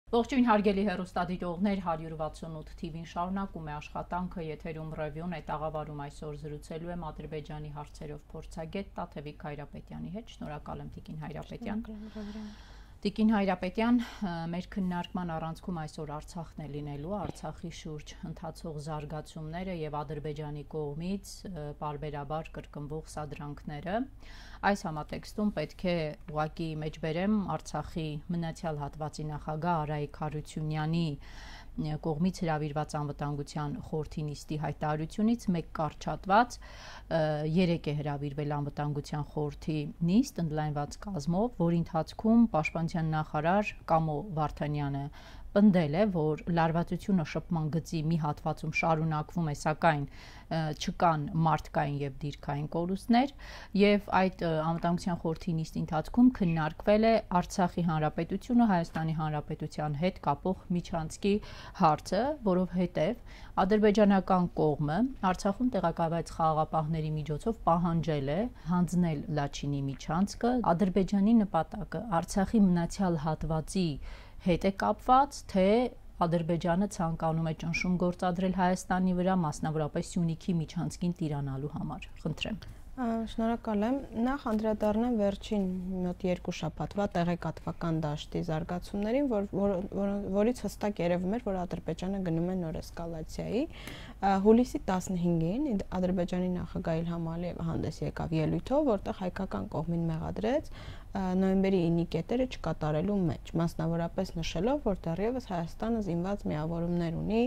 Ողջույն հարգելի հեռուստադիտողներ, 168 TV-ն շարունակում է աշխատանքը, եթերում ռևյուն է, տաղավարում այսօր զրուցելու եմ Ադրբեջանի հարցերով փորձագետ Տաթևիկ Հայրապետյանի հետ։ Շնորհակալ եմ Տիկին Հայրապետյան։ Տիկին Հայրապետյան, մեր քննարկման առանցքում այսօր Արցախն է լինելու, Արցախի շուրջ ընթացող զարգացումները եւ Ադրբեջանի կողմից բարբերաբար կրկնվող սադրանքները։ Այս համատեքստում պետք է ուղղակի մեջբերեմ Արցախի մնացյալ հատվածի նախագահ Արայիկ Հարությունյանի կողմից հրավիրված անվտանգության խորհրդի նիստի հայտարարությունից մեկ կարճատված երեք է հրավիրվել անվտանգության խորհրդի նիստ ընդլայնված կազմով, որի ընթացքում պաշտպանության նախարար Կամո Վարդանյանը պնդել է, որ լարվածությունը շփման գծի մի հատվածում շարունակվում է, սակայն չկան մարդկային եւ դիրքային կորուստներ, եւ այդ անվտանգության խորհրդի նիստի ընթացքում քննարկվել է Արցախի հանրապետությունը Հայաստանի հանրապետության հետ կապող միջանցքի հարցը, որովհետեւ ադրբեջանական կողմը Արցախում տեղակայված խաղաղապահների միջոցով պահանջել է հանձնել Լաչինի միջանցքը, Ադրբեջանի նպատակը Արցախի մնացյալ հատվածի հետ է կապված, թե Ադրբեջանը ցանկանում է ճնշում գործադրել Հայաստանի վրա, մասնավորապես Սյունիքի միջանցքին տիրանալու համար։ Խնդրեմ։ Շնորհակալ եմ։ Նախ անդրադառնեմ վերջին մոտ 2 շաբաթվա տեղեկատվական դաշտի զարգացումներին, որից հստակ երևում էր, որ Ադրբեջանը գնում է նոր էսկալացիայի։ Հուլիսի 15-ին Ադրբեջանի նախագահ Իլհամ Ալիևը հանդես եկավ ելույթով, որտեղ հայկական կողմին մեղադրեց նոյեմբերի 9-ի կետերը չկատարելու մեջ, մասնավորապես նշելով, որ դեռևս Հայաստանը զինված միավորումներ ունի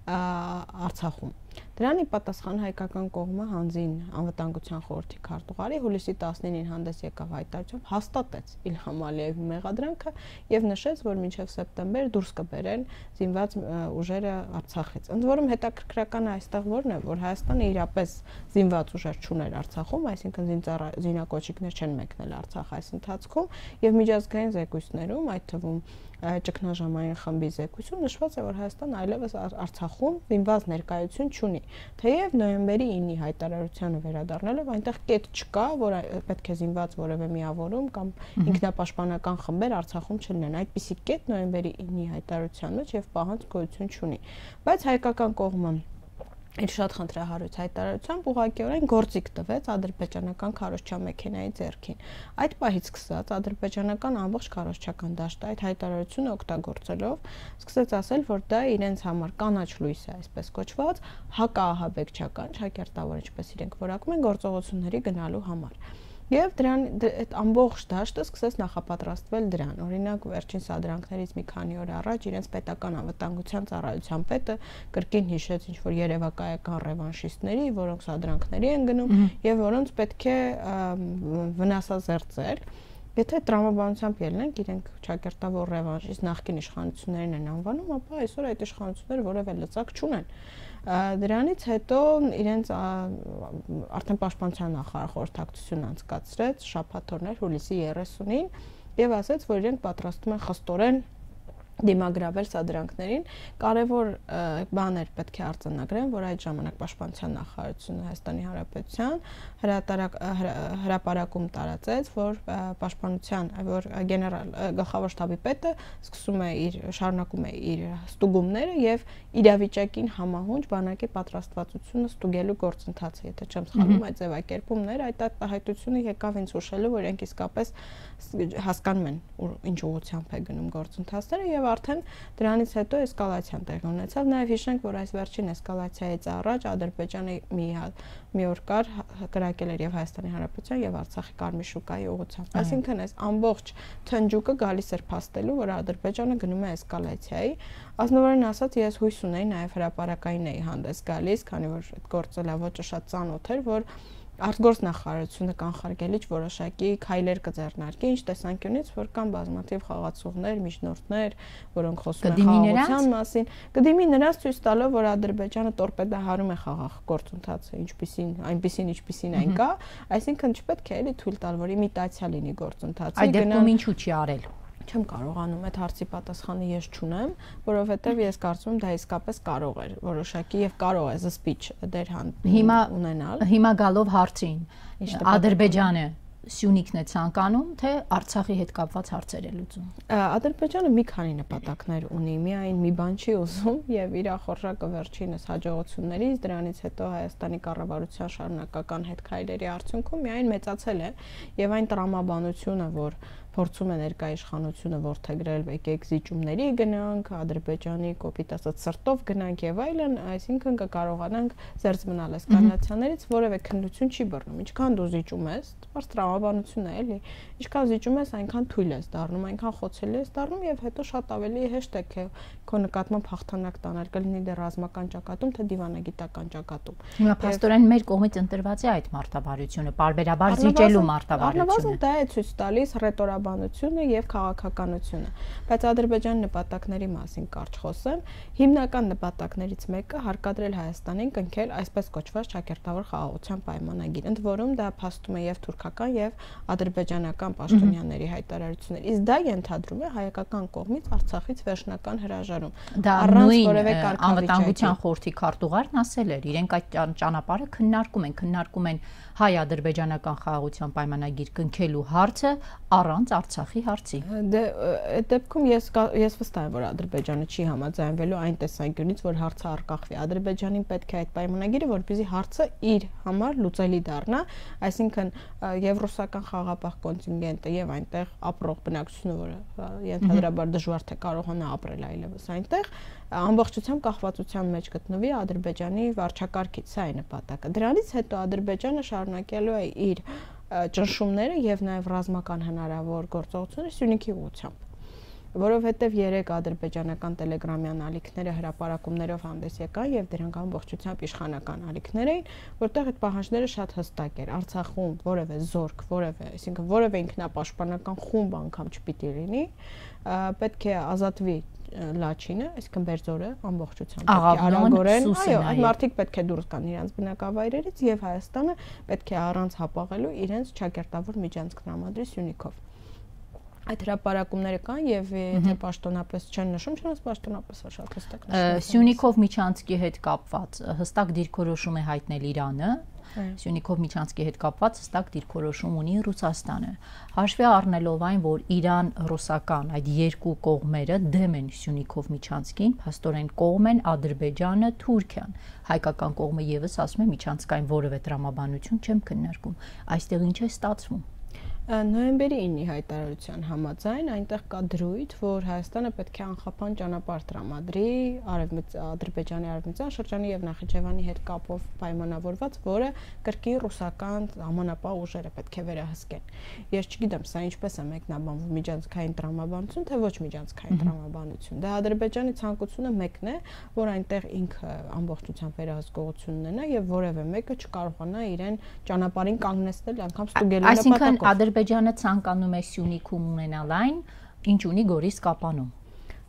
Արցախում։ Դրանի պատասխան հայկական կողմը հանձին անվտանգության խորհրդի քարտուղարի հուլիսի 19-ին հանդես եկավ հայտարարությամբ հաստատեց Իլհամ Ալիևի մեղադրանքը եւ նշեց, որ մինչեւ սեպտեմբեր դուրս կբերեն զինված ուժերը Արցախից։ Ընդ որում հետաքրքրական այստեղ որն է, որ Հայաստանը իրապես զինված ուժեր չուներ Արցախում, այսինքն զինակոչիկներ չեն մեկնել Արցախ այս ընթացքում եւ միջազգային զեկույցներում, այդ թվում ճգնաժամային խմբի զեկույցում նշված է, որ Հայաստանը այլևս Արցախում զինված ներկայություն չունի։ Թեև նոյեմբերի 9-ի հայտարարությանը վերադառնալով այնտեղ կետ չկա, որ պետք է զինված որևէ միավորում կամ ինքնապաշտպանական խմբեր Արցախում չլինեն։ Այդպիսի կետ նոյեմբերի 9-ի հայտարարության մեջ եւ պահանջ գոյություն չունի։ Բայց հայկական կողմը իր շատ խնդրահարույց հայտարարությամբ ուղղակիորեն գործիք տվեց ադրբեջանական քարոզչա մեքենայի ձեռքին։ Այդ պահից սկսած ադրբեջանական ամբողջ քարոզչական դաշտը այդ հայտարարությունը օգտագործելով սկսեց ասել, որ դա իրենց համար կանաչ լույս է, այսպես կոչված, հակաահաբեկչական, ճակերտավոր, ինչպես իրենք որակում են, գործողությունների գնալու համար։ Եվ դրան այդ ամբողջ դաշտը սկսեց նախապատրաստվել դրան։ Օրինակ, վերջին սադրանքներից մի քանի օր առաջ իրենց պետական անվտանգության ծառայության պետը կրկին հիշեց ինչ-որ երևակայական ռևանշիստների, որոնք սադրանքների են գնում եւ որոնց պետք է վնասազերծել։ Եթե տրամաբանությամբ ելնենք, իրենք ճակերտավոր ռևանշիստ նախկին իշխանություններին են անվանում, ապա այսօր այդ իշխանությունները որևէ լծակ չունեն։ Դրանից հետո իրենց արդեն պաշտպանության նախարար խորհրդակցություն անցկացրեց շաբաթօրներ հուլիսի 30-ին եւ ասաց, որ իրենք պատրաստում են խստորեն դիմագրավել սադրանքներին։ Կարևոր բաներ պետք է արձանագրեն, որ այդ ժամանակ պաշտպանության նախարարությունը Հայաստանի Հանրապետության հրապարակում տարածեց, որ պաշտպանության, որ գլխավոր շտաբի պետը շարունակում է իր ստուգումները եւ իրավիճակին համահունչ բանակի պատրաստվածությունը ստուգելու գործընթացը, եթե չեմ սխալվում, այդ ձևակերպումները, այդ արտահայտությունը եկավ ինձ հուշելու, որ իրենք իսկապես հասկանում են ինչ ուղղությամբ է գնում գործընթացները եւ արդեն դրանից հետո էսկալացիան տեղի ունեցավ։ Նաև հիշենք, որ այս վերջին էսկալացիայից առաջ Ադրբեջանը մի օր կար կրակել էր եւ Հայաստանի Հանրապետության եւ Արցախի Կարմիր շուկայի ուղղությամբ։ Այսինքն այս ամբողջ թնջուկը գալիս էր փաստելու, որ Ադրբեջանը գնում է էսկալացիայի։ Ազնվորեն ասած, ես հույս ունեի, նաև հրապարակային էի հանդես գալիս, քանի որ այդ գործը լավոճը շատ ծանոթ էր, որ արտգործնախարարությունը կանխարգելիչ որոշակի քայլեր կձեռնարկի, ինչ տեսանկյունից, որ կան բազմաթիվ խաղացողներ, միջնորդներ, որոնք խոսում են խաղաղության մասին, կդիմի նրանց ցույց տալով, որ Ադրբեջանը տորպեդահարում է խաղաղ գործընթացը, ինչպիսին այն կա, այսինքն չպետք է էլի թույլ տալ, որ իմիտացիա լինի գործընթացի։ Այդ դեպքում ինչու չի արել։ Չեմ կարողանում այդ հարցի պատասխանը ես չունեմ, որովհետև ես կարծում եմ դա իսկապես կարող էր որոշակի եւ կարող է զսպիչ դեր ունենալ։ Հիմա գալով հարցին, Ադրբեջանը Սյունիքն է ցանկանում, թե Արցախի հետ կապված հարցեր է լուծում։ Ադրբեջանը մի քանի նպատակներ ունի, միայն մի բան չի ուզում եւ իր խորժակը վերջինս հաջողություններից, դրանից հետո Հայաստանի կառավարության շարունակական հետքայլերի արդյունքում միայն մեծացել է եւ այն տրամաբանությունը, որ փորձում է ներկայիշխանությունը ворթեգրել եկեք զիջումների գնանք, Ադրբեջանի կոպիտ ասած սրտով գնանք եւ այլն, այսինքն կկարողանանք զերծ մնալ էսկալացիաներից, որևէ քննություն չի բռնում։ Ինչքան դու զիջում ես, բարձ տրամաբանություն է, էլի։ Ինչքան զիջում ես, այնքան թույլ ես դառնում, այնքան խոցելի ես դառնում եւ հետո շատ ավելի հեշտ է քո նկատմամբ հաղթանակ տանել, կլինի դեռ ռազմական ճակատում, թե դիվանագիտական ճակատում։ Հիմա փաստորեն մեր կողմից ընտրված է այդ մարտավարությունը, պարբերաբար զիջելու մարտավարությունը։ Առնվազն դա է ցույց տալիս ռետորաբանությունը եւ քաղաքականությունը, բայց Ադրբեջանի նպատակների մասին կարճ խոսեմ, հիմնական նպատակներից մեկը հարկադրել Հայաստանին կնքել այսպես կոչված ճակերտավոր խաղաղության պայմանագիր, ընդ որում դա փաստում է եւ թուրքական եւ ադրբեջանական պաշտոնյաների հայտարարություններ, իսկ դա ենթադրում է հայկական կողմից Արցախից վերջնական հրաժարում։ Դա նույն անվտանգության խորհրդի քարտուղարն ասել էր, իրենք այդ ճանապարհը քննարկում են հայ-ադրբեջանական խաղաղության պայմանագիր կնքելու հարցը առանց Արցախի հարցի։ Դե այդ դեպքում ես վստահ եմ, որ Ադրբեջանը չի համաձայնվելու այն տեսանկյունից, որ հարցը առկախվի։ Ադրբեջանին պետք է այդ պայմանագիրը, որպեսզի հարցը իր համար լուծելի դառնա, այսինքն եւ ռուսական խաղաղապահ կոնտինգենտը եւ այնտեղ ապրող բնակչությունը, որը ենթադրաբար դժվար թե կարողանա ապրել այլևս այնտեղ, ամբողջությամբ կախվածության մեջ գտնվի Ադրբեջանի վարչակարգից, սա է նպատակը։ Դրանից հետո Ադրբեջանը շարունակելու է իր ճնշումները եւ նաեւ ռազմական հնարավոր գործողությունները Սյունիքի ուղղությամբ, որովհետեւ 3 ադրբեջանական տելեգրամյան ալիքները հրապարակումներով հանդես եկան եւ դրանք ամբողջությամբ իշխանական ալիքներ էին, որտեղ այդ պահանջները շատ հստակ էր։ Արցախում որևէ զորք, այսինքն որևէ ինքնապաշտպանական խումբ անգամ չպիտի լինի, պետք է ազատվի Լաչինը, այսինքն Բերձորը ամբողջությամբ արագորեն, այո, այդ մարդիկ պետք է դուրս գան իրենց բնակավայրերից եւ Հայաստանը պետք է առանց հապաղելու իրենց ճակերտավոր միջանցք տրամադրի Սյունիքով։ Այդ հրապարակումները կան եւ եթե պաշտոնապես չեն նշում, չնայած պաշտոնապես է շատ հստակ նշվում։ Սյունիքով միջանցքի հետ կապված հստակ դիրքորոշում է հայտնել Իրանը։ Սյունիքով միջանցքի հետ կապված հստակ դիրքորոշում ունի Ռուսաստանը։ Հաշվի առնելով այն, որ Իրան-ռուսական այդ երկու կողմերը դեմ են Սյունիքով միջանցքին, փաստորեն կողմ են Ադրբեջանը, Թուրքիան։ Հայկական կողմը եւս ասում է միջանցքային որևէ տրամաբանություն չեմ քննարկում։ Այստեղ ինչ է ստացվում։ Նոյեմբերի 9-ի հայտարարության համաձայն այնտեղ կա դրույթ, որ Հայաստանը պետք է անխափան ճանապարհ տրամադրի Ադրբեջանի արևմտյան շրջանի եւ Նախիջևանի հետ կապով պայմանավորված, որը կրկին ռուսական համանապահ ուժերը պետք է վերահսկեն։ Ես չգիտեմ, սա ինչպես է մեկնաբանվում միջանցքային տրամաբանություն, թե ոչ միջանցքային տրամաբանություն։ Դա Ադրբեջանի ցանկությունը մեկն է, որ այնտեղ ինքը ամբողջությամբ վերահսկողություն ունենա եւ որևէ մեկը չկարողանա իրեն ճանապարհին կանգնեցնել, անգամ ստուգելու նպատակով։ Ադրբեջանը ցանկանում է Սյունիքում ունենալ այն, ինչ ունի Գորիս-Կապանում,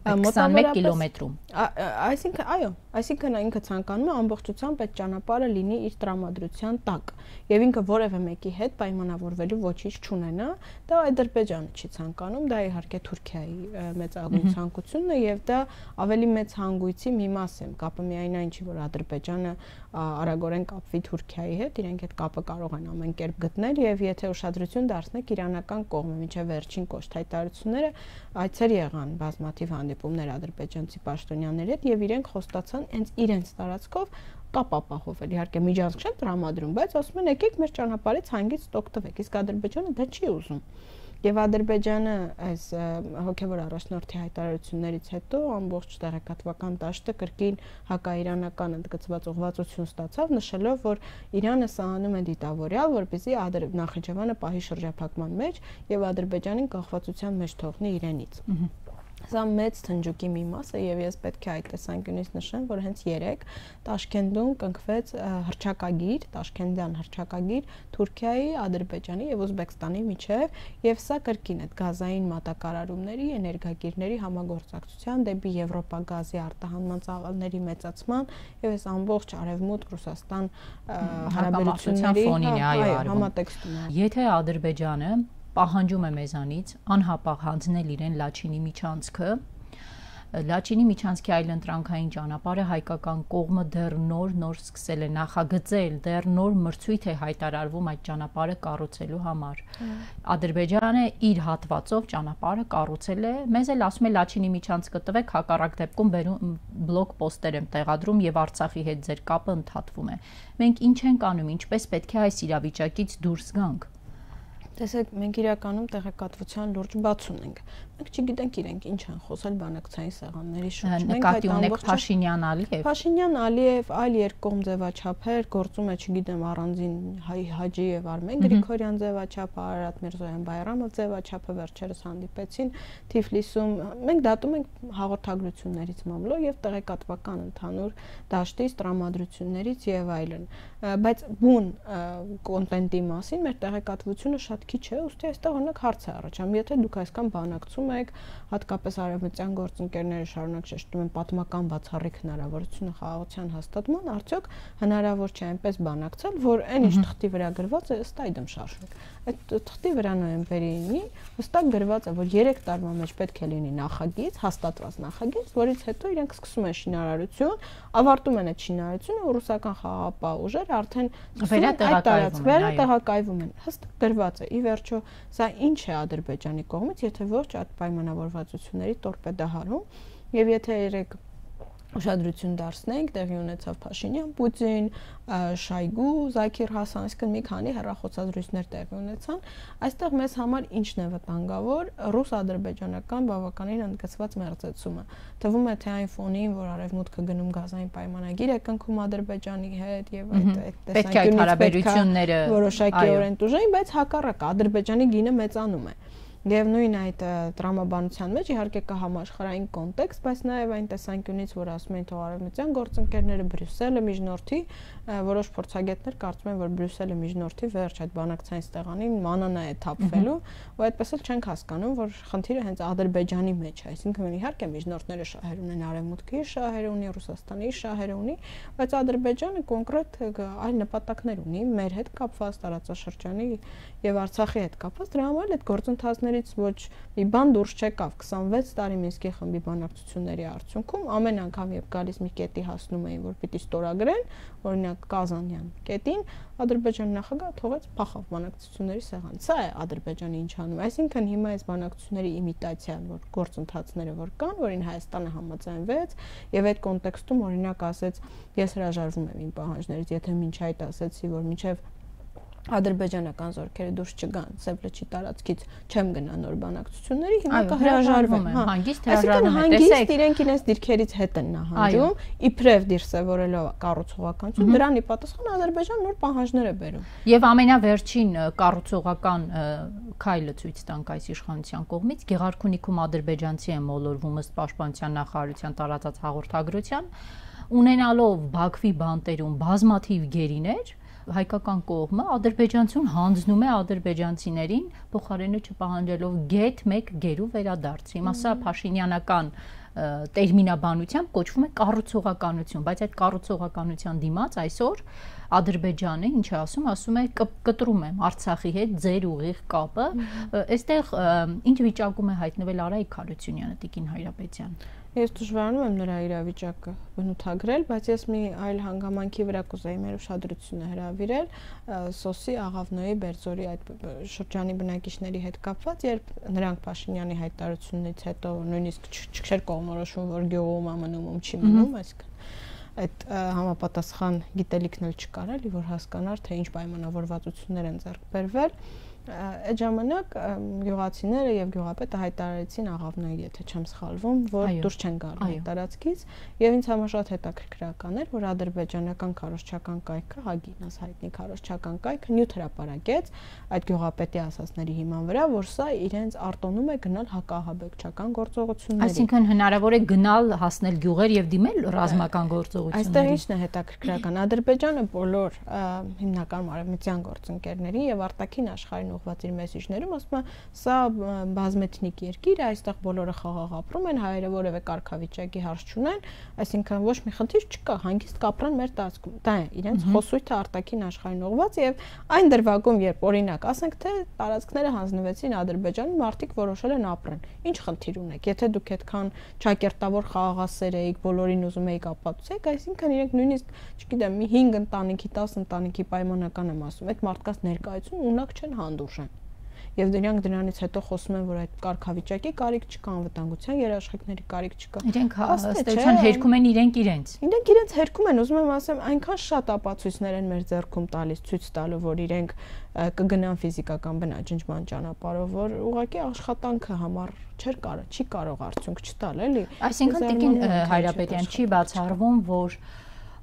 21 կիլոմետրում։ Այսինքն, այո, այսինքն ինքը ցանկանում է ամբողջությամբ այդ ճանապարհը լինի իր տրամադրության տակ եւ ինքը որևէ մեկի հետ պայմանավորվելու ոչինչ չունենա, դա Ադրբեջանը չի ցանկանում, դա իհարկե Թուրքիայի մեծագույն ցանկությունն է եւ դա ավելի մեծ հանգույցի մի մաս է։ Կապը միայն այն չի, որ Ադրբեջանը արագորեն կապվի Թուրքիայի հետ, իրենք այդ կապը կարող են ամեն կերպ գտնել եւ եթե ուշադրություն դարձնեք իրանական կողմը, մինչեւ վերջին կոշտ հայտարարությունները այցեր եղան բազմաթիվ հանդիպումներ ադրբեջանցի պաշտոնյաների հետ եւ իրենք խոստացան հենց իրենց տարածքով կապ ապահովել։ Իհարկե միջանցք չեն տրամադրում, բայց ասում են եկեք մեր ճանապարհից հանգիստ օգտվեք, իսկ Ադրբեջանը դա չի ուզում։ Եվ Ադրբեջանը այս հոգևոր առաջնորդի հայտարարություններից հետո ամբողջ տեղեկատվական դաշտը կրկին հակաիրանական ընդգծված ուղղվածություն ստացավ, նշելով, որ Իրանը սա անում է դիտավորյալ, որպեսզի Նախիջևանը պահի շրջափակման մեջ եւ Ադրբեջանին կախվածության մեջ թողնի իրենից։ Սա մեծ թնջուկի մի մաս է եւ ես պետք է այդ տեսանկյունից նշեմ, որ հենց 3 Տաշկենտում կնքվեց հռչակագիր, Տաշկենտյան հռչակագիր Թուրքիայի, Ադրբեջանի եւ Ուզբեկստանի միջեւ եւ սա կրկին այդ գազային մատակարարումների, էներգակիրների համագործակցության դեպի Եվրոպա գազի արտահանման ծավալների մեծացման եւ այս ամբողջ արևմուտք Ռուսաստան հարաբերությունների ֆոնին է համատեքստում։ Եթե Ադրբեջանը պահանջում է մեզանից անհապաղ հանձնել իրեն Լաչինի միջանցքը, Լաչինի միջանցքի այլընտրանքային ճանապարհը հայկական կողմը դեռ նոր սկսել է նախագծել, դեռ նոր մրցույթ է հայտարարվում այդ ճանապարհը կառուցելու համար։ Ադրբեջանը իր հատվածով ճանապարհը կառուցել է, մեզ էլ ասում է Լաչինի միջանցքը տվեք, հակառակ դեպքում բլոկ պոստեր եմ տեղադրում եւ Արցախի հետ ձեր կապը ընդհատվում է։ Մենք ինչ ենք անում, ինչպես պետք է այս իրավիճակից դուրս գանք։ Տեսեք, մենք իրականում տեղեկատվության լուրջ բաց ունենք։ Մենք չգիտենք իրենք ինչ են խոսել բանակցային սեղանների շուրջ։ Նկատի ունեք Փաշինյան-Ալիև։ Փաշինյան-Ալիև, այլ երկկողմ ձևաչափեր, գործում է, չգիտեմ, առանձին Հաջի եւ Արմեն Գրիգորյան ձևաչափը, Արարատ Միրզոյան-Բայրամով ձևաչափը վերջերս հանդիպեցին Թիֆլիսում։ Մենք դատում ենք հաղորդագրություններից մամլո եւ տեղեկատվական ընդհանուր դաշտից, տրամադրություններից եւ այլն։ Բայց բուն կոնտենտի մասին մեր տեղեկատվությունը շատ քիչ է, ուստի այստեղ օրինակ հարց է առաջանում, եթե դուք այսքան բանակցում եք, հատկապես արևմտյան գործընկերները շարունակ շեշտում են պատմական բացառիկ հնարավորությունը խաղաղության հաստատման, արդյոք հնարավոր չէ այնպես բանակցել, որ այն ինչ թղթի վրա գրված է, ըստ այդմ շարժվի։ Այդ թղթի վրա նոյեմբերին հստակ գրված է, որ 3 տարվա մեջ պետք է լինի նախագիծ, հաստատված նախագիծ, որից հետո իրենք սկսում են շինարարություն, ավարտում են այդ շինարարությունը, ու ռուսական խաղաղապահ ուժերը արդեն վերատեղակայվում են։ Հստակ գրված է։ Ի վերջո, սա ինչ է Ադրբեջանի կողմից, եթե ոչ այդ պայմանավորվածությունների տորպեդահարում, եւ եթե երեք ուշադրություն դարձնենք, տեղի ունեցավ Փաշինյան-Պուտին, Շայգու, Զաքիր Հասան, այսինքն մի քանի հեռախոսազրույցներ տեղի ունեցան, այստեղ մեզ համար ինչն է վտանգավոր, ռուս-ադրբեջանական բավականին ընդգծված մերձեցումը։ Թվում է, թե այն ֆոնին, որ արևմուտքը գնում գազային պայմանագիր է կնքում Ադրբեջանի հետ եւ այդ տեսանկյունից որոշակիորեն տուժեն, բայց հակառակ Ադրբեջանի գինը մեծանում է։ Եվ նույն այդ տրամաբանության մեջ իհարկե կա համաշխարհային կոնտեքստ, բայց նաև այն տեսանկյունից, որ ասում են թող արևմտյան գործընկերները Բրյուսելը միջնորդի, որոշ փորձագետներ կարծում են, որ Բրյուսելը միջնորդի վերջ այդ բանակցային ստեղանին մանանա է թափվելու, ու այդպես էլ չենք հասկանում, որ խնդիրը հենց Ադրբեջանի մեջ է, այսինքն իհարկե միջնորդները շահեր ունեն արևմուտքի շահեր ունի, Ռուսաստանի շահեր ունի, բայց Ադրբեջանը կոնկրետ այլ նպատակներ ունի մեր հետ կապված տարածաշրջանի եւ Արցախի հետ կապված, դրա համար այդ գործընթացներից ոչ մի բան դուրս չեկավ 26 տարի Մինսկի խմբի բանակցությունների արդյունքում ամեն անգամ երբ գալիս մի կետի հասնում էին, որ պիտի ստորագրեն, օրինակ Կազանյան կետին, Ադրբեջանի նախագահը թողեց փախավ բանակցությունների սեղան։ Սա է Ադրբեջանի ինչ անում, այսինքն հիմա այս բանակցությունների իմիտացիան, որ գործընթացները որ կան, որին Հայաստանը համաձայնվեց եւ այդ կոնտեքստում օրինակ ասեց, ես հրաժարվում եմ իմ պահանջներից, եթե մինչ այդ ասեցի, որ մինչեւ ադրբեջանական զորքերը դուրս չգան Սև լճի տարածքից չեմ գնա նոր բանակցությունների, հիմա կհրաժարվեմ, հանգիստ հրաժարվում է, տեսեք, իրենք իրենց դիրքերից հետ են նահանջում, իբրև դիրսևորելով կառուցողականություն, դրան ի պատասխան Ադրբեջանը նոր պահանջներ է բերում։ Եվ ամենավերջին կառուցողական քայլը ցույց տանք այս իշխանության կողմից, Գեղարքունիքում ադրբեջանցի են մոլորվում ըստ Պաշտպանության նախարարության տարածած հաղորդագրության, ունենալով Բաքվի բանտերում բազմաթիվ գերիներ, հայկական կողմը ադրբեջանցուն հանձնում է ադրբեջանցիներին փոխարենը չպահանջելով գեթ 1 գերու վերադարձ։ Հիմա սա փաշինյանական տերմինաբանությամբ կոչվում է կառուցողականություն, բայց այդ կառուցողականության դիմաց այսօր Ադրբեջանը ինչ է ասում է կտրում եմ Արցախի հետ ձեր ուղիղ կապը, այստեղ ինչ վիճակում է հայտնվել Արայիկ Հարությունյանը, Տիկին Հայրապետյան։ Ես դժվարանում եմ նրա իրավիճակը բնութագրել, բայց ես մի այլ հանգամանքի վրա կուզեի մեր ուշադրությունը հրավիրել Սոսի Աղավնոյի Բերձորի այդ շրջանի բնակիչների հետ կապված, երբ նրանք Փաշինյանի հայտարարությունից հետո նույնիսկ չէր կողմնորոշում, որ գյուղում ամնում չի մնում, այսինքն այդ համապատասխան գիտելիքն էլ չկար էլի, որ հասկանար, թե ինչ պայմանավորվածություններ են ձեռք բերվել։ Այդ ժամանակ գյուղացիները եւ գյուղապետը հայտարարեցին Աղավնոյի, եթե չեմ սխալվում, որ դուրս չեն գալու տարածքից, եւ ինձ համար շատ հետաքրքրական էր, որ ադրբեջանական քարոզչական կայքը, Հագինաս հայտնի քարոզչական կայքը նյութ հրապարակեց այդ գյուղապետի ասացների հիման վրա, որ սա իրենց արտոնում է գնալ հակահաբեկչական գործողությունների։ Այսինքն հնարավոր է գնալ հասնել գյուղեր եւ դիմել ռազմական գործողությունների։ Այստեղ ինչն է հետաքրքրական, Ադրբեջանը բոլոր հիմնական արևմտյան գործընկերներին եւ արտաքին աշխարհին ուղղված իր մեսիջներում, ասում է, սա բազմեթնիկ երկիր է, այստեղ բոլորը խաղաղ ապրում են, հայերը որևէ կարգավիճակի հարց չունեն, այսինքն ոչ մի խնդիր չկա, հանգիստ կապրեն մեր տարածքում։ Դա է իրենց խոսույթը արտաքին աշխարհին ուղղված եւ այն դրվագում, երբ օրինակ, ասենք թե տարածքները հանձնվեցին Ադրբեջանում, մարդիկ որոշել են ապրեն։ Ինչ խնդիր ունեք, եթե դուք այդքան ճակերտավոր խաղաղասեր եք, բոլորին ուզում եք ապացուցեք, այսինքն իրենք նույնիսկ, չգիտեմ, մի 5 ընտանիքի, 10 ընտանիքի պայմանական եմ ասում, այդ մարդկանց ներկայություն ունակ չեն հանդուրժեն։ Եվ դրանք դրանից հետո խոսում են, որ այդ կարգավիճակի կարիք չկա, անվտանգության երաշխիքների կարիք չկա։ Իրենք ըստեյության հերքում են իրենք իրենց։ Իրենք իրենց հերքում են, ուզում եմ ասեմ, այնքան շատ ապացույցներ են մեր ձեռքում տալիս ցույց տալու, որ իրենք կգնան ֆիզիկական բնաջնջման ճանապարհով, որ ուղղակի աշխատանքը համար չի կարող արդյունք չտալ, էլի։ Այսինքն Տիկին Հայրապետյան չի բացառվում, որ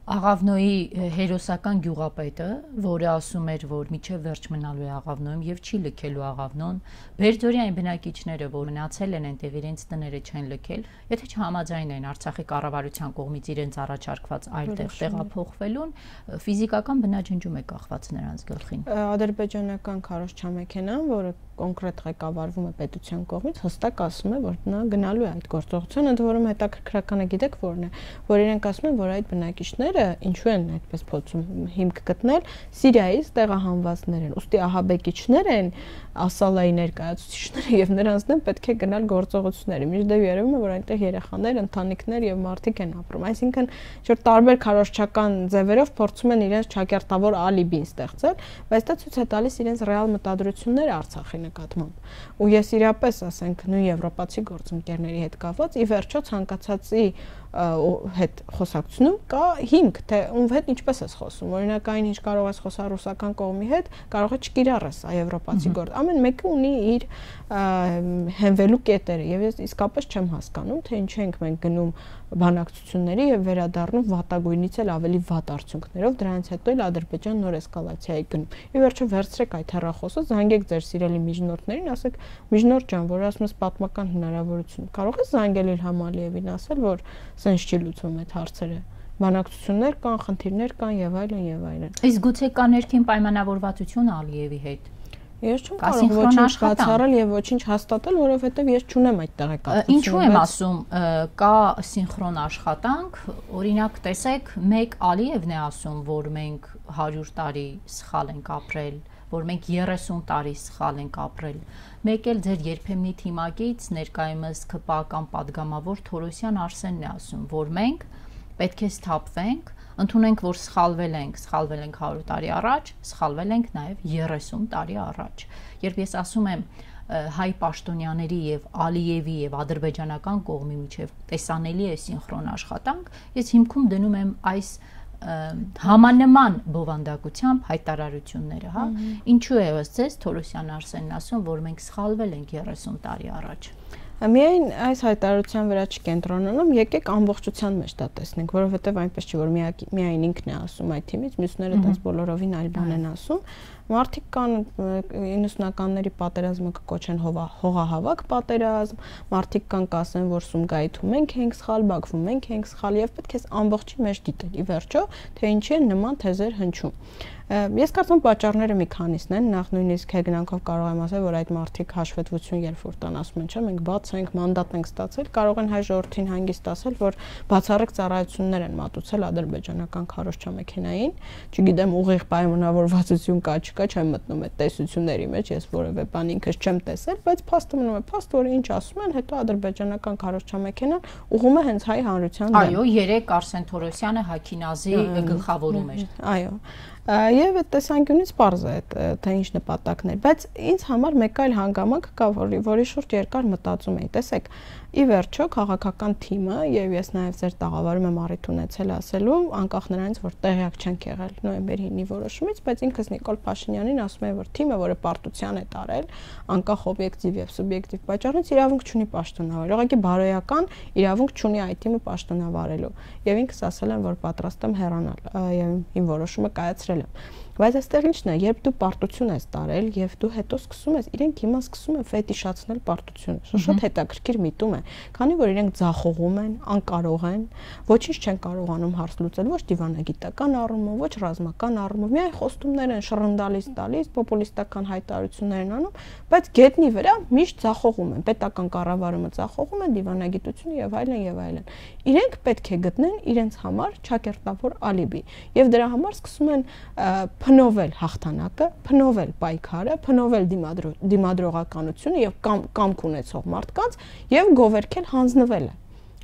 Աղավնոյի հերոսական գյուղապետը, որը ասում էր, որ միջև վերջ մնալու է Աղավնոյում եւ չի լքելու Աղավնոն, Բերձորիայի բնակիչները, որ մնացել են այնտեղ, իրենց տները չեն լքել, եթե չհամաձայնեն Արցախի կառավարության կողմից իրենց առաջարկված այլ տեղ տեղափոխվելուն, ֆիզիկական բնաջնջում է կախված նրանց գլխին։ Ադրբեջանական քարոզչամեքենան, որը կոնկրետ ղեկավարվում է պետության կողմից, հստակ ասում է, որ նա գնալու է այդ գործողությունը, ընդ որում հետաքրքրականը գիտեք որն է, որ իրենք ասում են, որ այդ բնակիչները ինչու են այդպես փորձում հիմք գտնել, Սիրիայից տեղահանվածներ են, ուստի ահաբեկիչներ են, Ասալայի ներկայացուցիչները եւ նրանց դեմ պետք է գնալ գործողությունների։ Միջդեպ երևում է, որ այնտեղ երեխաներ, ընտանիքներ եւ մարդիկ են ապրում։ Այսինքն, որ տարբեր քարոզչական ձևերով փորձում են իրենց ճակերտավոր ալիբին ստեղծել, բայց դա ցույց է տալիս իրենց ռեալ մտադրությունները Արցախի նկատմամբ։ Ու ես իրապես, ասենք, նույն եվրոպացի գործընկերների հետ կապված, ի վերջո ցանկացածի հետ խոսակցությունում կա հիմք, թե ում հետ ինչպես ես խոսում։ Օրինակ այն ինչ կարող ես խոսալ ռուսական կողմի հետ, կարող է չկիրառես եվրոպացի գործ։ Ամեն մեկը ունի իր հենվելու կետերը եւ ես իսկապես չեմ հասկանում, թե ինչ ենք մենք գնում բանակցությունների եւ վերադառնում վատագույնից էլ ավելի վատ արդյունքներով, դրանից հետո էլ Ադրբեջան նոր էսկալացիայի գնում։ Ի վերջո վերցրեք այդ հեռախոսը, զանգեք ձեր սիրելի միջնորդներին, ասեք՝ միջնորդ ջան, որ ասում ես պատմական հնարավորություն, կարող ես զանգել Իլհամ Ալիևին, ասել, որ սենց չի լուծվում այդ հարցերը։ Բանակցություններ կան, խնդիրներ կան եւ այլն եւ այլն։ Իսկ գուցե կա ներքին պայմանավորվածություն Ալիևի հետ։ Ես չեմ կարող ոչինչ բացառել եւ ոչինչ հաստատել, որովհետեւ ես չունեմ այդ տեղեկատվությունը։ Ինչու եմ ասում, կա սինխրոն աշխատանք, օրինակ տեսեք, մեկ Ալիևն է ասում, որ մենք 100 տարի սխալ ենք ապրել, որ մենք 30 տարի սխալ ենք ապրել։ Մեկ էլ ձեր երբեմնի թիմակից ներկայումս ԿՊԱ կամ падգամավոր Թորոսյան Արսենն է ասում, որ մենք պետք է սթափվենք, ընդունենք, որ սխալվել ենք 100 տարի առաջ, սխալվել ենք նաև 30 տարի առաջ։ Երբ ես ասում եմ հայ պաշտոնյաների եւ Ալիևի եւ ադրբեջանական կողմի միջև տեսանելի է սինխրոն աշխատանք, ես հիմքում դնում եմ այս համանման բովանդակությամբ հայտարարությունները, հա։ Ինչու է ըստ ձեզ Թորոսյան Արսենն ասում, որ մենք սխալվել ենք 30 տարի առաջ։ Միայն այս հայտարարության վրա չկենտրոնանում, եկեք ամբողջության մեջ դա տեսնենք, որովհետև այնպես չի, որ միայն ինքն է ասում այդ թիմից, մյուսները դες բոլորովին այլ բան են ասում։ Մարդիկ կան 90-ականների պատերազմը կկոչեն հողահավաք պատերազմ, մարդիկ կան կասեն, որ Սումգայիթում մենք ենք սխալ, Բաքվում մենք ենք սխալ եւ պետք է ամբողջի մեջ դիտել ի վերջո, թե ինչի են նման թեզեր հնչում։ Ես կարծում պատճառները մի քանիսն են, նախ նույնիսկ հեգնանքով կարող եմ ասել, որ այդ մարդիկ հաշվետվություն երբ որ տան ասում են, չէ, մենք բաց ենք, մանդատ ենք ստացել, կարող են հայ ժողովրդին հանգիստ ասել, որ բացառիկ ծառայություններ են մատուցել ադրբեջանական քարոզչամեքենային, չգիտեմ ուղիղ պայմանավորվածություն կա, չկա, չեմ մտնում այդ տեսությունների մեջ, ես որևէ բան ինքս չեմ տեսել, բայց փաստը մնում է փաստ, որ ինչ ասում են, հետո ադրբեջանական քարոզչամեքենան ուղղում է հենց հայ հանրության դեմ։ Այո, երեք Արսեն Թորոսյանը Հաքինազի գլխավորում էր։ Այո։ Եվ այդ տեսանկյունից պարզ է թե ինչ նպատակներ, բայց ինձ համար մեկ այլ հանգամանք կա, որի շուրջ երկար մտածում էի, տեսեք, ի վերջո քաղաքական թիմը եւ ես նաեւ ձեր տաղավարում եմ առիթ ունեցել ասելու, անկախ նրանից, որ տեղյակ չենք եղել նոյեմբերի 9-ի որոշումից, բայց ինքս Նիկոլ Փաշինյանին ասում եմ, որ թիմը, որը պարտության է տարել, անկախ օբյեկտիվ եւ սուբյեկտիվ պատճառից իրավունք չունի պաշտոնավարել, ուղղակի բարոյական իրավունք չունի այդ թիմը պաշտոնավարելու եւ ինքս ասել եմ, որ պատրաստ եմ հեռանալ եւ իմ որոշումը կայացրել եմ։ Բայց այստեղ ինչն է, երբ դու պարտություն ես տարել եւ դու հետո սկսում ես, իրենք հիմա սկսում են ֆետիշացնել պարտությունը։ Շատ հետաքրքիր միտում է։ Քանի որ իրենք ձախողում են, անկարող են, ոչինչ չեն կարողանում հարց լուծել, ոչ դիվանագիտական առումով, ոչ ռազմական առումով, միայն խոստումներ են շռնդալից տալիս, պոպուլիստական հայտարարություններ են անում, բայց գետնի վրա միշտ ձախողում են, պետական կառավարումը ձախողում են, դիվանագիտությունը եւ այլն եւ այլն։ Իրենք պետք է գտնեն իրենց համար ճակերտավոր ալիբի եւ դրա համար սկսում են փնովել հաղթանակը, փնովել պայքարը, փնովել դիմադրողականությունը եւ կամք ունեցող մարդկանց եւ գովերքել հանձնվելը։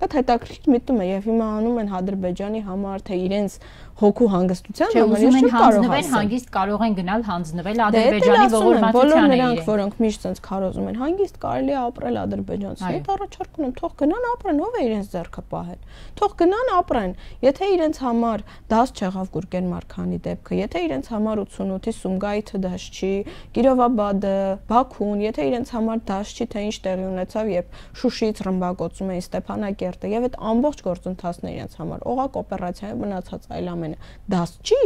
Այդ հետաքրքիր միտում է եւ հիմա անում են Ադրբեջանի համար թե իրենց հոգու հանգստության համար ես չեմ կարող ասել հանգիստ կարող են գնալ հանձնվել Ադրբեջանի ողորմածությանը նրանք որոնք միշտ sense քարոզում են հանգիստ կարելի է ապրել ադրբեջանցի հետ առաջարկ ունեմ թող գնան ապրեն ով է իրենց ձեռքը պահել թող գնան ապրեն եթե իրենց համար դաս չեղավ Գուրգեն Մարքանի դեպքը եթե իրենց համար 88-ի Սումգայիթը դաս չի Կիրովաբադը Բաքուն եթե իրենց համար դաս չի թե ինչ տեղի ունեցավ երբ Շուշիից ռմբակոծում էին Ստեփանակերտը եւ այդ ամբողջ գործընթացն է իրենց համար օղակ օպերացիայի մնացած այլ դաս չի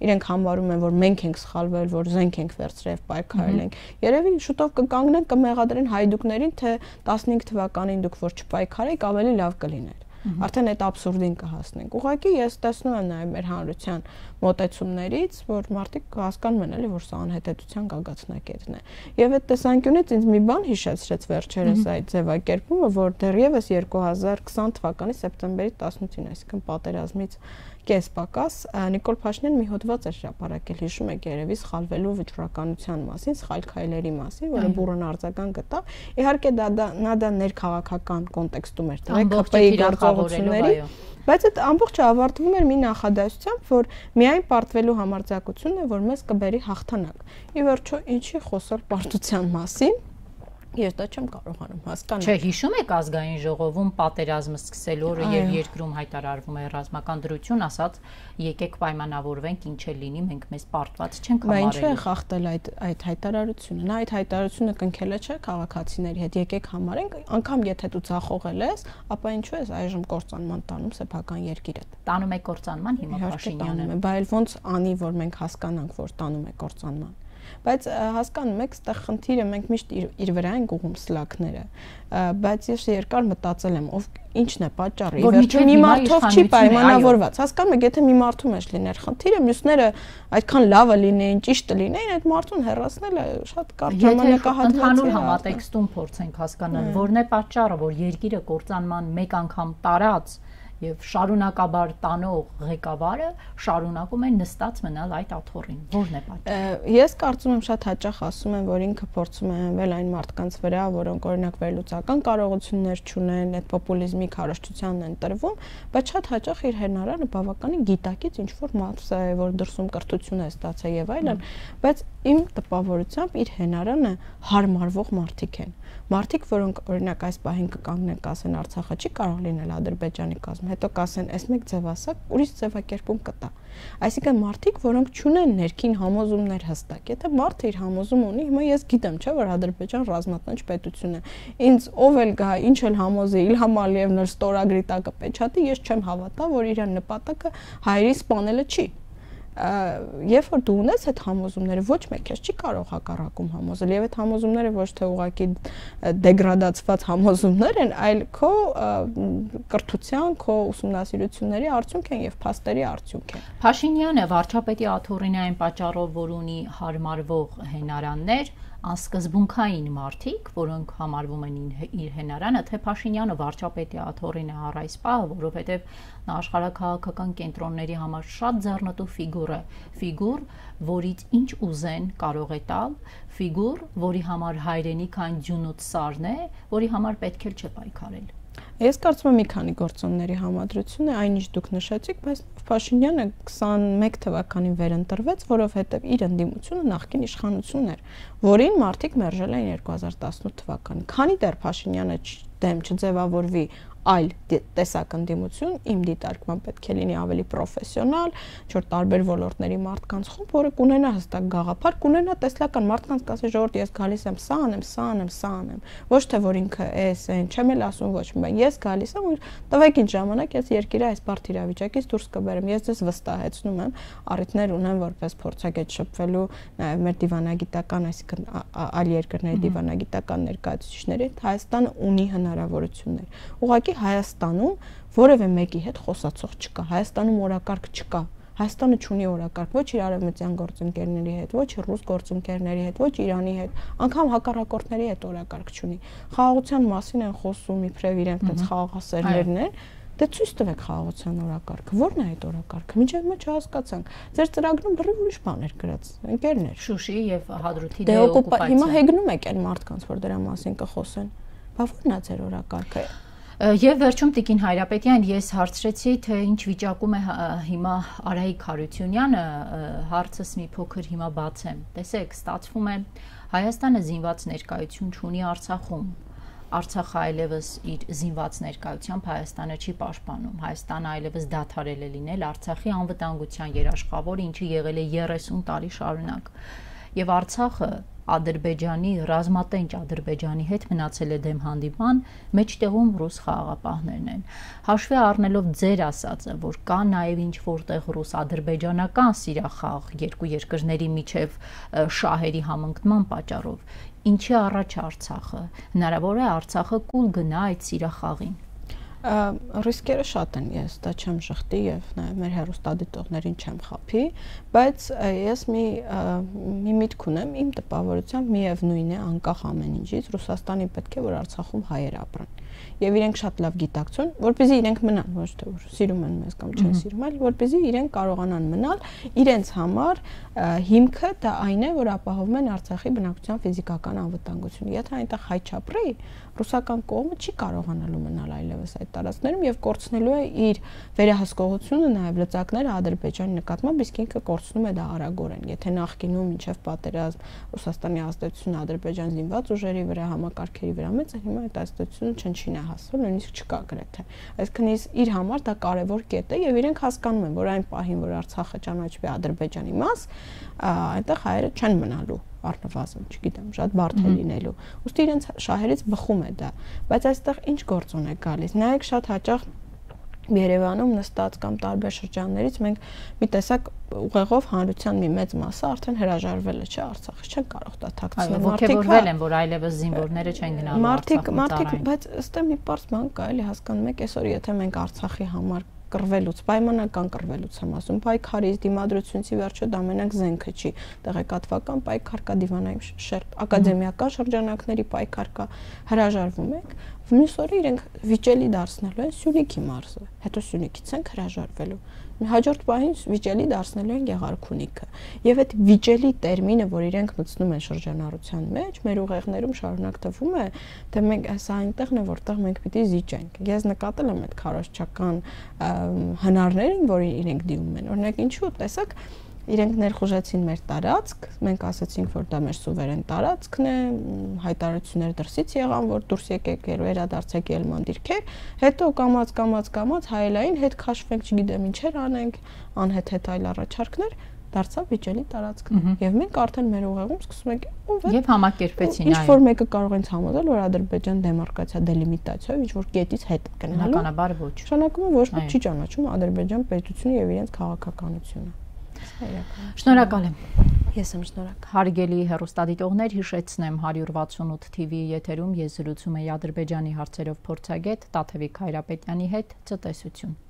իրենք համարում են որ մենք ենք սխալվել որ զենք ենք վերցրել պայքարել ենք երևի շուտով կկանգնեն կմեղադրեն հայդուկներին թե 15 թվականին դուք որ չպայքարեք ավելի լավ կլիներ արդեն այդ абսուրդին կհասնենք ուղղակի ես տեսնում եմ նաև մեր հանրության մոտեցումներից որ մարդիկ հասկանում են էլի որ սա անհետեթության գագաթնակետն է եւ այդ տեսանկյունից ինձ մի բան հիշեցրեց վերջերս այդ ձևակերպումը որ դեռևս 2020 թվականի սեպտեմբերի 18-ին այսինքն պատերազմից կես պակաս Նիկոլ Փաշինյանը մի հոդված էր հրապարակել հիշում եք երևի սխալվելու վճռականության մասին սխալ քայլերի մասին որը բուրըն արձագանք գտավ իհարկե դա ներքաղաքական կոնտեքստում էր դրել ԿՊ-ի գործողությունների բայց այդ ամբողջը ավարտվում էր մի նախադասությամբ որ միայն պարտվելու համարձակությունն է որ մեզ կբերի հաղթանակ ի վերջո ինչի խոսել պարտության մասին Ես դա չեմ կարողանում հասկանալ։ Չէ, հիշում եք ազգային ժողովում պատերազմը սկսելու օրը եւ երկրում հայտարարվում է ռազմական դրություն, ասած եկեք պայմանավորվենք ինչ էլ լինի, մենք մեզ պարտված չենք համարելու։ Բայց ինչու է խախտել այդ հայտարարությունը։ Նա այդ հայտարարությունը կնքել է չէ քաղաքացիների հետ, եկեք համարենք, անգամ եթե դու ցախողել ես, ապա ինչու ես այժմ կործանման տանում սեփական երկիրը։ Տանում է կործանման հիմա Փաշինյանը։ Բայց ոնց անի, որ մենք հասկանանք, որ տանում է կործանման։ Բայց հասկանում եք, այստեղ խնդիրը մենք միշտ իր վրա ենք ուղում սլաքները, բայց ես երկար մտածել եմ, ով ինչն է պատճառը, ի վերջո մի մարդով չի պայմանավորված։ Հասկանում եք, եթե մի մարդու մեջ լիներ խնդիրը, մյուսները այդքան լավը լինեին, ճիշտը լինեին, այդ մարդուն հեռացնելը շատ կարճ ժամանակահատված է։ Ընդհանուր համատեքստում փորձենք հասկանալ, որն է պատճառը, որ երկիրը կործանման մեկ անգամ տարած եւ շարունակաբար տանող ղեկավարը շարունակում է նստած մնալ այդ աթոռին։ Որն է պատճառը։ Ես կարծում եմ շատ հաճախ ասում են, որ ինքը փորձում է հենվել այն մարդկանց վրա, որոնք օրինակ վերլուծական կարողություններ չունեն, այդ պոպուլիզմի քարոզչությանն են տրվում, բայց շատ հաճախ իր հենարանը բավականին գիտակից ինչ որ մաս է, որ դրսում կրթություն է ստացել եւ այլն, բայց իմ տպավորությամբ իր հենարանը հարմարվող մարդիկ են։ Մարդիկ, որոնք օրինակ այս պահին կկանգնեն, կասեն Արցախը չի կարող լինել Ադրբեջանի կազմում, հետո կասեն, այս մեկ ձևասա, ուրիշ ձևակերպում կտա։ Այսինքն մարդիկ, որոնք չունեն ներքին համոզումներ հստակ։ Եթե մարդը իր համոզում ունի, հիմա ես գիտեմ, չէ՞, որ Ադրբեջան ռազմատնչ պետություն է։ Ինձ ով էլ գա, ինչ էլ համոզի, Իլհամ Ալիևն էլ ստորագրի տակը պեչատի, ես չեմ հավատա, որ իր նպատակը հայերի սպանելը չի։ Երբ որ դու ունես այդ համոզումները, ոչ մեկ քեզ չի կարող հակառակում համոզել, եւ այդ համոզումները ոչ թե ուղղակի դեգրադացված համոզումներ են, այլ քո կրթության, քո ուսումնասիրությունների արդյունք են եւ փաստերի արդյունք են։ Փաշինյանը վարչապետի աթոռին այն պատճառով, որ ունի հարմարվող հենարաններ, անսկզբունքային մարդիկ, որոնք համարվում են իր հենարանը, թե Փաշինյանը վարչապետի աթոռին է առ այս պահը, որովհետև նա աշխարհաքաղաքական կենտրոնների համար շատ ձեռնտու ֆիգուր, որից ինչ ուզեն կարող է տալ, ֆիգուր, որի համար հայրենիքան ձյունոց սարն է, որի համար պետք է չպայքարել։ Ես կարծում եմ մի քանի գործոնների համադրություն է, այնինչ դուք նշեցիք, բայց Փաշինյանը 21 թվականին վերընտրվեց, որովհետև իր ընդդիմությունը նախկին իշխանությունն էր, որին մարդիկ մերժել էին 2018 թվականին։ Քանի դեռ Փաշինյանը դեմ չձևավորվի այլ տեսակ ընդդիմություն, իմ դիտարկման պետք է լինի ավելի պրոֆեսիոնալ, որ տարբեր ոլորտների մարդկանց խումբ, որը կունենա հստակ գաղափար, կունենա տեսլական մարդկանց կասի ժողովուրդ ես գալիս եմ, սա անեմ, ոչ թե որ ինքը էս այն, չեմ էլ ասում ոչ մի բան, ես գալիս եմ ու տվեք ինձ ժամանակ, ես երկիրը այս բարդ իրավիճակից դուրս կբերեմ, ես ձեզ վստահեցնում եմ, առիթներ ունեմ որպես փորձագետ շփվելու նաև մեր դիվանագիտական, այսինքն այլ երկրների դիվանագիտական ներկայացուցիչների, Հայաստանը ունի հնարավորություններ։ Ուղղակի Հայաստանում որևէ մեկի հետ խոսացող չկա, Հայաստանում օրակարգ չկա, Հայաստանը չունի օրակարգ ոչ իր արևմտյան գործընկերների հետ, ոչ ռուս գործընկերների հետ, ոչ Իրանի հետ, անգամ հակառակորդների հետ օրակարգ չունի։ Խաղաղության մասին են խոսում, իբրև իրենք այդպես խաղաղասերներն են, դե ցույց տվեք խաղաղության օրակարգը, ո՞րն է այդ օրակարգը։ Մինչև մենք չհասկացանք։ Ձեր ծրագրում բռի ուրիշ բաներ գրած, ընկերներ։ Շուշի եւ Հադրութի դեօկուպացիա։ Հիմա հեգնում եք այն մարդկանց, որ դրա մասին կխոսեն։ Բա ո՞րն է ձեր օրակարգը։ Եվ վերջում Տիկին Հայրապետյան, ես հարցրեցի, թե ինչ վիճակում է հիմա Արայիկ Հարությունյանը, հարցս մի փոքր հիմա բացեմ։ Տեսեք, ստացվում է Հայաստանը զինված ներկայություն չունի Արցախում։ Արցախը այլևս իր զինված ներկայությամբ Հայաստանը չի պաշտպանում։ Հայաստանը այլևս դադարել է լինել Արցախի անվտանգության երաշխավորը, ինչը եղել է 30 տարի շարունակ։ Եվ Արցախը Ադրբեջանի, ռազմատենչ Ադրբեջանի հետ մնացել է դեմ հանդիման, մեջտեղում ռուս խաղաղապահներն են։ Հաշվի առնելով ձեր ասածը, որ կա նաև ինչ որտեղ ռուս-ադրբեջանական սիրախաղ երկու երկրների միջև շահերի համընկնման պատճառով, ինչի առաջ Արցախը, հնարավոր է Արցախը կուլ գնա այդ սիրախաղին։ Ռիսկերը շատ են, ես դա չեմ շղթի եւ նաեւ մեր հեռուստադիտողներին չեմ խափի, բայց ես մի միտք ունեմ, իմ տպավորությամբ միևնույն է, անկախ ամեն ինչից, Ռուսաստանի պետք է որ Արցախում հայեր ապրեն։ Եվ իրենք շատ լավ գիտակցούν, որպեսզի իրենք մնան, ոչ թե որ սիրում են մեզ կամ չեն սիրում, այլ որպեսզի իրենք կարողանան մնալ, իրենց համար հիմքը դա այն է, որ ապահովում են Արցախի բնակչության ֆիզիկական անվտանգությունը։ Եթե այնտեղ հայ չապրի, ռուսական կողմը չի կարողանալու մնալ այլևս այդ տարածքներում եւ կորցնելու է իր վերահսկողությունը նաեւ լծակները Ադրբեջանի նկատմամբ, իսկ ինքը կորցնում է դա արագորեն։ Եթե նախկինում մինչեւ պատերազմ Ռուսաստանի ազդեցությունը Ադրբեջան զինված ուժերի վրա, համակարգերի վրա մեծ է, հիմա այդ ազդեցությունը չնչին է հասել, նույնիսկ չկա գրեթե։ Այսինքն իր համար դա կարևոր կետ է եւ իրենք հասկանում են, որ այն պահին, որ Արցախը ճանաչվի Ադրբեջանի մաս, այնտեղ հայերը չեն մնալու առնվազն, չգիտեմ, շատ բարդ է լինելու։ Ուստի իրենց շահերից բխում է դա, բայց այստեղ ինչ գործ է գալիս։ Նայեք շատ հաճախ Երևանում նստած կամ տարբեր շրջաններից մենք մի տեսակ ուղեղով հանրության մի մեծ մասը արդեն հրաժարվել է, չէ, Արցախից չեն կարող դա թաքցնել։ Ոգևորվել են, որ այլևս զինվորները չեն գնալու Արցախում։ Բայց ըստ մի պարզ բան կա, էլի հասկանում եք, այսօր եթե մենք Արցախի համար կռվելուց, պայմանական կռվելուց եմ ասում, պայքարից, դիմադրությունից վերջո դա մենակ զենքը չի, տեղեկատվական պայքար կա, ակադեմիական շրջանակների պայքար կա, հրաժարվում եք, մյուս օրը իրենք վիճելի դարձնելու են Սյունիքի մարզը, հետո Սյունիքից են հրաժարվելու, հաջորդ պահին վիճելի դարձնելու են Գեղարքունիքը, եւ այդ վիճելի տերմինը, որ իրենք մտցնում են շրջանառության մեջ, մեր ուղեղներում շարունակ թվում է, թե մենք սա այնտեղն է, որտեղ մենք պիտի զիջենք։ Ես նկատել եմ այդ քարոզչական հնարներին, որ իրենք դիմում են, օրինակ ինչու, տեսակ իրենք ներխուժեցին մեր տարածք, մենք ասացինք, որ դա մեր սուվերեն տարածքն է, հայտարարություններ դրսից եղան, որ դուրս եկեք, վերադարձեք ելման դիրքեր, հետո կամած հայելային հետ քաշվենք, չգիտեմ ինչեր անենք, անհետ այլ առաջարկներ, դարձավ վիճելի տարածքն։ Եվ մենք արդեն մեր ուղեղում սկսում ենք եւ համակերպեցին այն։ Ինչ որ մեկը կարող են համոզել, որ Ադրբեջան դեմարկացիա դելիմիտացիայով ինչ որ կետից հետ գնալու։ Բնականաբար ոչ։ Նշանակում է ոչ ոք չի ճանաչում Ադրբեջան պետությունը եւ իրենց քաղաքականությունը։ Շնորհակալ եմ։ Ես եմ շնորհակալ։ Հարգելի հեռուստադիտողներ, հիշեցնեմ 168 TV եթերում ես զրուցում եի Ադրբեջանի հարցերով փորձագետ Տաթևիկ Հայրապետյանի հետ։ Ցտեսություն։